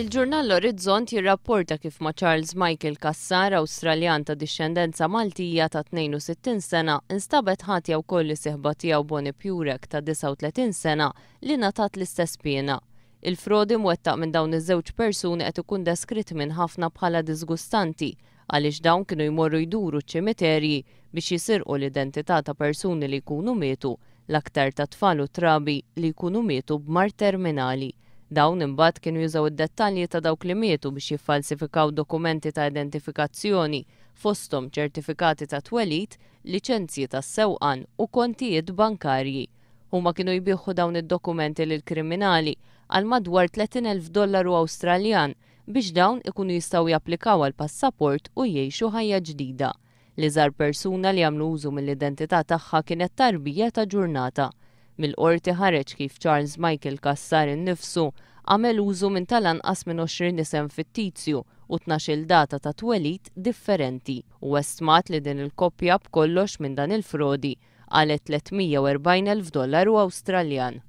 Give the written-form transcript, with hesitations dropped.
Il-ġurnal L-Orizzont jirrapporta kif ma' Charles Michael Cassar, Awstraljan ta' dixxendenza Maltija ta' 62 sena, instabet ħatja wkoll is-sieħba tiegħu Bonnie Purek ta' 39 sena li ngħatat l-istess piena. Il-frodi mwettaq minn dawn iż-żewġ persuni qed ikun deskritt minn ħafna bħala diżgustanti għaliex dawn kienu jmorru jduru ċ-ċimiterji biex jisirqu l-identità ta' persuni li jkunu mietu, l-aktar ta' tfal u trabi li jkunu mietu b'mard terminali. Dawn imbagħad kienu jużaw id-dettalji ta' dawk li mietu biex jiffalsifikaw dokumenti ta' identifikazzjoni, fosthom ċertifikati ta' twelid, liċenzji tas-sewqan u kontijiet bankarji. Huma kienu jbigħu dawn id-dokumenti lill-kriminali għal madwar 30,000 dollaru Awstraljan biex dawn ikunu jistgħu japplikaw għal passaport u jgħixu ħajja ġdida. L-iżgħar persuna li għamlu użu mill-identità tagħha kienet tarbija ta' ġurnata. Mill-Qorti ħareġ kif Charles Michael Cassar innifsu għamel użu minn tal-anqas minn 20 isem fittizju u 12-il data ta' twelid differenti u estmat li din il-koppja b'kollox minn dan il-frodi qalgħet 340,000 dollaru Awstraljan.